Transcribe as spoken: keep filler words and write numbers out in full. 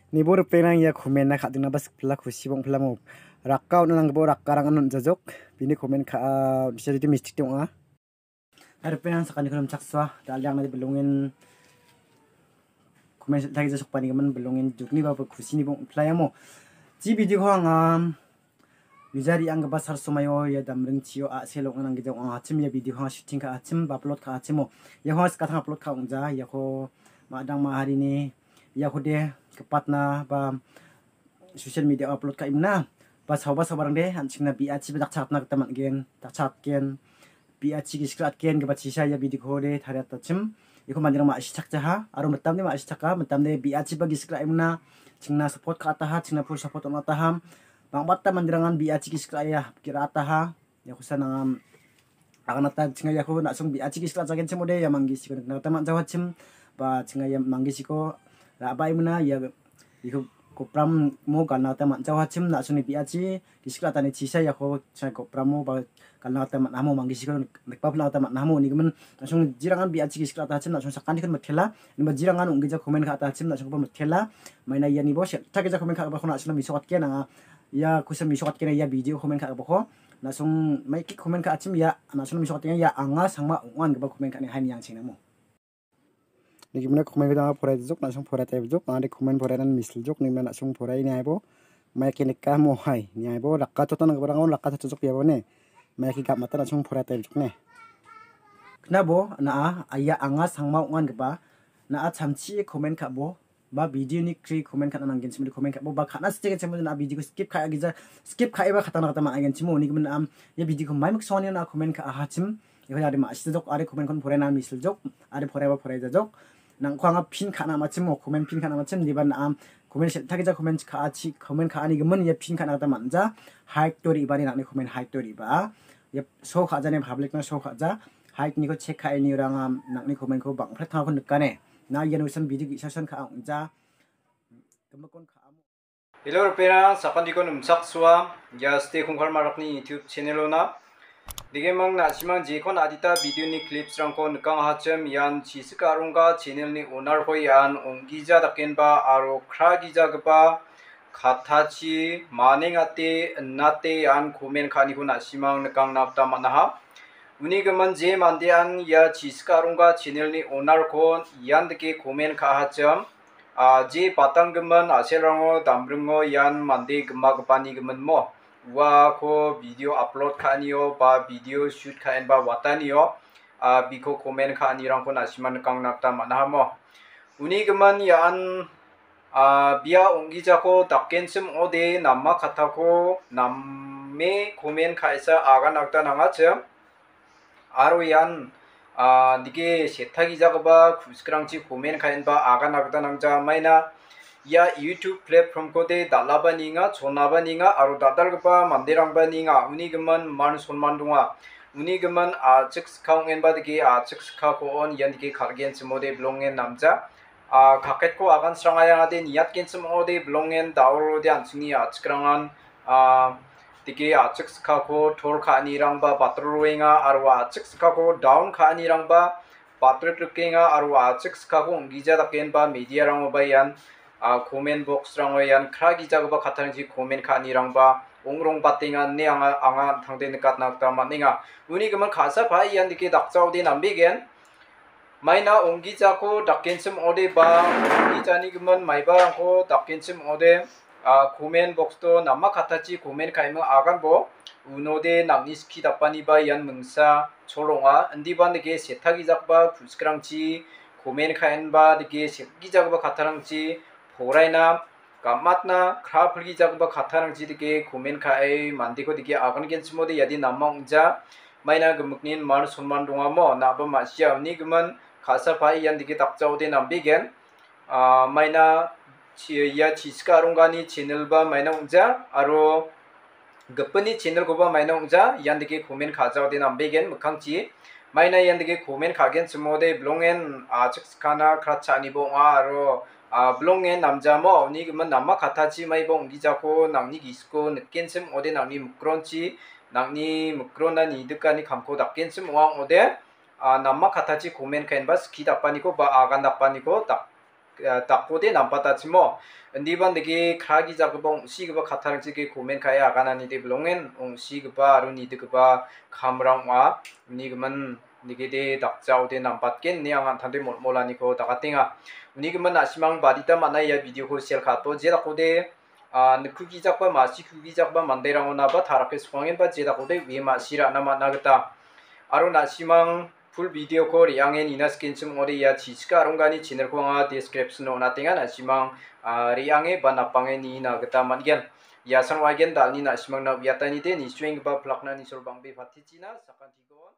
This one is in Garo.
Nibo ripengrang ia comment-na ka·dingna ba sikpila kusi bongpilamo. Rakka on·a nanggipa rakkarang on·jajok. Bini comment ka·a on·sija jodi mistik de ong·a. Hai ripengrang sakaniko nimchaksoa. Dal·e angna bilongen comment sel·tagija sokpanigimin bilongen dukni ba kusini bongpilamo. Ji video-ko anga mija re·anggipa sal somaio ia damringchio a·sel ong·na nanggija ong·achim ia video-ko anga shooting ka·achim ba upload ka·achimo. Iako anga skatang upload ka·ongja. Iako ma·dang ma·harini iakode gipatna ba social media-o upload ka·imina ba saoba saobarangde an·chingna bi·achiba dakchakatna gita man·gen, dakchakatgen, bi·achi gisik ra·atgen gipa chisa ia video-kode tariatachim. Iako manderang ma·sichakjaha aro mitamde ma·sichaka, mitamde bi·achiba gisik ra·imina chingna support ka·ataha, chingna full support on·ataha. Bang·bata manderangan bi·achi gisik ra·ia, ra·ataha. Ia kosa nangam aganata chinga iako na·song bi·achi gisik ra·jagenchim ode ia manggisiko nikna gita man·jawachim. Ba chinga ia manggisiko ra·baimina ia, iako gopramo galna gita man·jawachim. Na·songni bi·achi gisik ra·atani chisa iako chinga gopramo ba galna gita man·amo, manggisiko nik-, nikbapna gita man·amo. Unigimin na·song jirangan bi·achi gisik ra·atachim, na·song sakantikon mitela. Niba jirangan ong·gija comment ka·atachim, na·songkoba mitela. Maina ianibo sel·tagija comment ka·gipako na·songna misokatgen anga. Ia kosa misokatgen ia video comment ka·gipako. Na·song maiki comment ka·achim ia, na·song misokatgen ia anga sangma ong·a ingipa comment ka·ani hai niang chengnamo. Nigimna comment-ko anga poraijok, na·song poraitaibjok, anga de comment porainan misiljok, nigimna na·song porai niaibo. Maiki nikamo hai, niaibo rakatotan nanggiparang on rakatotojok iabo ne. Maiki gapmata na·song poraitaibjok ne. Knabo na·a, aia anga sangma ong·a ingipa, na·a chamchi comment ka·bo. Ba video-ni kri comment ka·na nanggenchim, comment ka·bo, ba ka·na sitegenchim, na video-ko skip ka·a gija, skip ka·eba katana kata man·agenchim, unigimin na·am, ia video-ko mai miksongani na comment ka·ahachim, iako ade ma·sijajok, ade comment-kon poraina misiljok, ade poraiba poraijajok, nangko anga pin ka·na amachim, o comment pin ka·na amachim, diba na·am, comment sel·tagija comment ka·achi, comment ka·anigimin, ia pin ka·na kata man·ja, hide-o re·bani nang·ni comment hide-o re·baa, ia show ka·jani public-na show ka·ja, hide-niko check ka·anirang, am, nang·ni comment-ko bang·pret tangako nikane. Na ian wisan video ge·sasan ka·a ong·ja. Gimikon ka·amo. Hello, ripengrang, sakantikon nimchaksoa. Ia Ste Kongkal Marakni YouTube channel-ona. Digemang na·simang jekon adita video-ni clips-rangko nikangahachim, ian Chisik Arongga channel-ni owner-ko ian ong·gija dakenba aro kra gijagipa kattachi manengate, innate ian comment ka·aniko na·simang nikangna gita man·aha. Uni gimin je mandean ia Chisik Arongga channel-ni owner-ko ian dake comment ka·ahachim, a, je batanggimin a·selrango damringo ian mande gimagipani giminmo. Uako video upload ka·anio ba video shoot ka·enba watanio, a, biko comment ka·anirangko na·sima nikangna gita man·ahamo. Uni gimin ian, a, bia ong·gijako dakenchim ong·ode nama kattako name comment ka·esa agana gita nangachim. Aro ian, a, dike setagijagipa ku·sikrangchi comment ka·enba agana gita nangja maina. Ia YouTube platform-kode dal·aba nienga, chonaba nienga, aro dal·dalgipa manderangba nienga. Uni gimin man sonman donga. Uni gimin a·chik skang ong·enba dike a·chik skako on ian dike kal·genchimode bilongen namja. A, kaketko agan srangayangade niatgenchim ong·ode bilongen daorode an·chingni a·chikrangan, a, dike a·chik skako tor ka·anirangba batroroenga aro a·chik skako down ka·anirangba batrot rikenga aro a·chik skako ong·gija dakenba mediarangoba ian, a, comment box-rango ian kra gijagipa kattarangchi comment ka·anirangba ong·rongbatenga ine anga, anga an·tangde nikatna gita man·enga. Uni gimin ka·sa pa ian dike dakjaode nambegen. Maina ong·gijako dakenchim ong·ode ba ong·gijani gimin maibarangko dakenchim ong·ode, a, comment box-o nama kattachi comment ka·eming aganbo unode nang·ni skie dapaniba ian mingsa chol ong·a. Indiba dike setagijagipa ku·sikrangchi comment ka·enba dike setagijagipa kattarangchi poraina gam·atna kra pilgijagipa kattarangchi dike comment ka·e mandeko dike agangenchimode iade nama ong·ja. Maina gimiknin man sonman dongamo na·aba ma·sia uni gimin ka·sa pa ian dike dakjaode nambegen. A, maina chi-, ia Chisik Aronggani channel-ba maina ong·ja aro gipinni channel-koba maina ong·ja, ian dike comment ka·jaode nambegen mikkangchi. Maina ian dike comment ka·genchimode bilongen, a, chikskana kratcha·aniba ong·a aro, a, bilongen namjamo uni gimin nama kattachi maiba ong·gijako nang·ni gisiko nikenchim ong·ode nang·ni mikronchi, nang·ni mikrona nidikani kamko dakenchim ong·a ong·ode, a, nama kattachi comment ka·enba skie dapaniko ba agan dapaniko dak-, ah, dakode nambatachimo. Indiba nike kragijagipa ong·sigipa kattarangchike komen ka·e agananide bilongen ong·sigipa aro nidigipa kamrang ong·a. Unigimin nigede dakjaode nambatgen ine anga an·tangde molmolaniko dakatenga. Unigimin na·simang badita man·a ia video-ko share ka·ato, je dakode, ah, nikkugijakba, ma·sikugijakba manderangonaba tarake sokangenba je dakode uie ma·si ra·na man·a gita. Aro na·simang full video-ko re·ange nina skenchim ong·ode ia Chichika Aronggani channel-ko anga description-o on·atenga, na·simang, ah, re·ange ba napange nina gita man·gen. Ia san wagen dalni na·simangna uiatanide nisuenggipa plakna nisol bang·be patichina sakantikon.